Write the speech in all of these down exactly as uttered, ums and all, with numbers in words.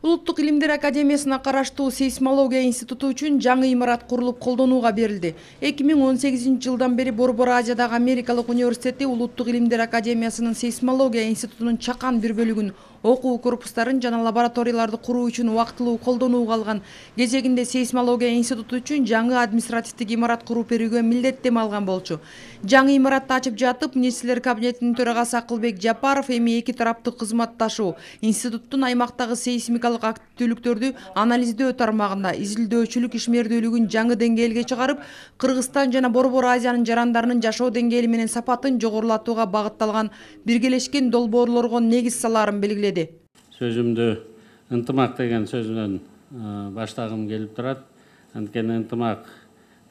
Улуттук илимдер академиясына караштуу сейсмология институту үчүн жаңы имарат курулуп колдонууга берилди. эки миң он сегизинчи жылдан бери Борбор Азиядагы Америкалык университети Улуттук илимдер академиясынын сейсмология институтунун чакан бир бөлүгүн окуу корпустарын жана лабораторияларды куруу үчүн убактылуу колдонууга алган. Кезегинде сейсмология институту үчүн жаңы административдик имарат куруп берүүгө милдеттеме алган болчу. Жаңы имаратты ачып жатып, министрлер кабинетинин төрагасы Акылбек Жапаров эми эки тараптык кызматташуу, институттун аймактагы сейсмикалык активдүүлүктөрдү анализдөө тармагында изилдөөчүлүк ишмердүүлүгүн жаңы деңгээлге чыгарып, Кыргызстан жана Борбор Азиянын жарандарынын жашоо деңгээли менен сапатын жогорулатууга багытталган биргелешкен долбоорлорго негиз салаарын белгиледи. Сөзүмдү ынтымак деген сөздөн баштагым келип турат. Анткени ынтымак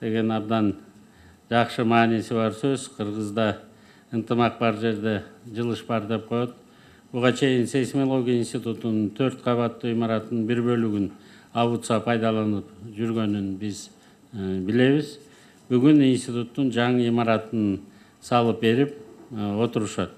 деген абдан жакшы мааниси бар сөз. Кыргызда ынтымак бар жерде жылыш бар деп коет. Буга чейин сейсмология институтунун төрт кабаттуу имаратынын бир бөлүгүн абутса пайдаланып жүргөнүн биз билебиз. Бүгүн институттун жаңы имаратын салып берип отурушат.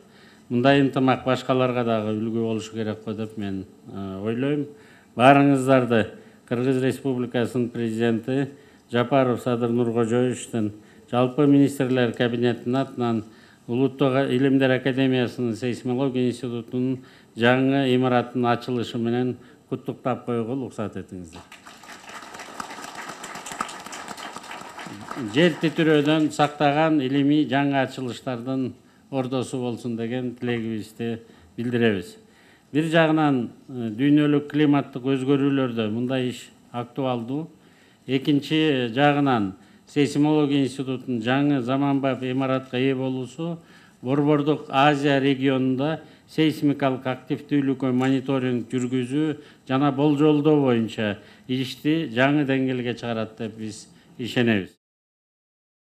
Мындай ынтымак башкаларга дагы үлгү болушу керек го деп мен ойлойм. Баарыңыздарды Кыргыз Республикасынын президенти Жапаров Садыр Нуркожоевичтен, жалпы министрлер кабинетинин атынан Улуттук илимдер академиясынын сейсмология институтунун жаңы имараттын ачылышы менен куттуктап коюуга уруксат этиңиздер. Жер титирөөдөн сактаган илимий жаңы ачылыштардын ордосу болсун деген тилегибизди билдиребиз. Бир жагынан дүйнөлүк климаттык өзгөрүүлөрдө мындай иш актуалдуу. Экинчи жагынан сейсмология институтунун жаңы заманбап имаратка ээ болуусу Борбордук Азия регионунда сейсмикалык активдүүлүккө мониторинг жүргүзүү жана болжолдоо боюнча ишти жаңы деңгээлге чыгарат деп биз ишенебиз.